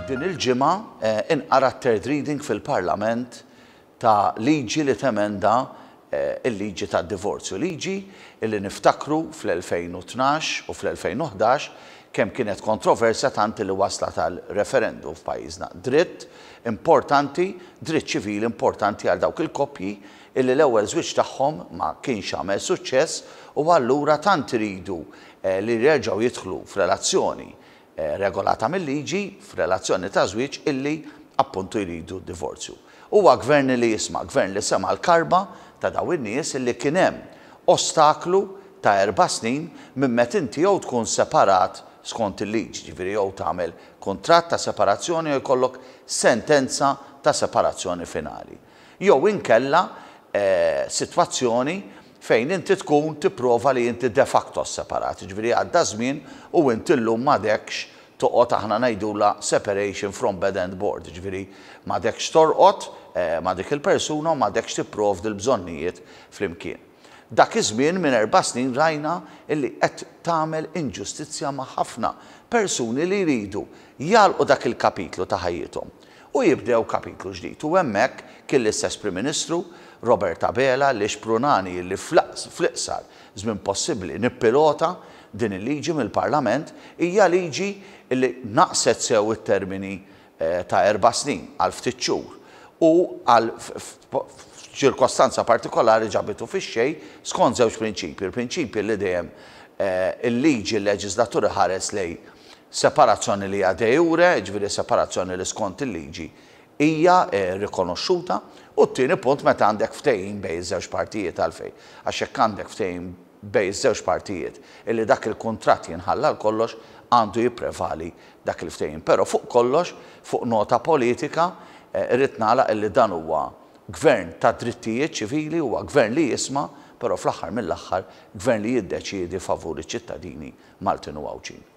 Din il-ġimgħa inqara t-third reading fil-Parlament ta' liġi li temenda l-liġi tad-divorzju. Liġi li niftakru fl-2012 u fl-2011 kemm kienet kontroversja tant li waslat għal referendum f'pajjiżna. Dritt importanti, dritt ċivili importanti għal dawk il-koppji illi l-ewwel żwieġ tagħhom ma kienx għamel suċċess u allura tant iridu li jerġgħu jidħlu f'relazzjoni regolata mil-liġi, f'relazzjoni ta' żwieġ illi appuntu jridu d-divorzju. Huwa gvern li jisma', gvern li sema' l-karba ta' dawn in-nies illi kien hemm ostaklu ta' 4 snin minn meta inti jew tkun separat skont il-liġi, ġifieri jew tagħmel kuntratt ta' separazzjoni jew jkollok sentenza ta' separazzjoni finali. Jew inkella sitwazzjoni fejn inti tkun tipprova li inti de facto separat, ġifieri għadda żmien u inti llum m'għadekx toqgħod, aħna ngħidula separation from bed and board, ġifieri m'għadekx torqod ma' dik il-persuna u m'għadekx tipprovdi l-bżonnijiet flimkien. Dak iż-żmien minn 4 snin rajna illi qed tagħmel inġustizzja ma' ħafna persuni li jridu jagħlqu dak il-kapitlu ta' ħajjithom u jibdew kapitlu ġdid. U hemmhekk kien l-istess Prim Ministru Robert Abela li xprunani li fl-iqsar żmien possibbli nippilota din il-liġi mill-Parlament. Hija liġi li naqset sew it-termini ta' 4 snin għal ftit xhur u għal ċirkostanza partikolari ġabitu fix-xejn skont żewġ prinċipji. Il-prinċipji li dejjem il-liġi l-leġislatur ħares lejn separazzjoni li hija de jure, ġifieri separazzjoni li skont il-liġi hija rikonoxxuta, u t-tieni punt meta għandek ftehim bejn iż-żewġ partijiet. Għalfejn? Għax jekk għandek ftehim bejn iż-żewġ partijiet illi dak il-kuntratt jinħalla kollox, għandu jipprevali dak il-ftehim. Però fuq kollox, fuq nota politika, irrid nagħlaq illi dan huwa gvern ta' drittijiet ċivili, huwa gvern li jisma', però fl-aħħar mill-aħħar gvern li jiddeċiedi favur iċ-ċittadini Maltin u Għawdxin.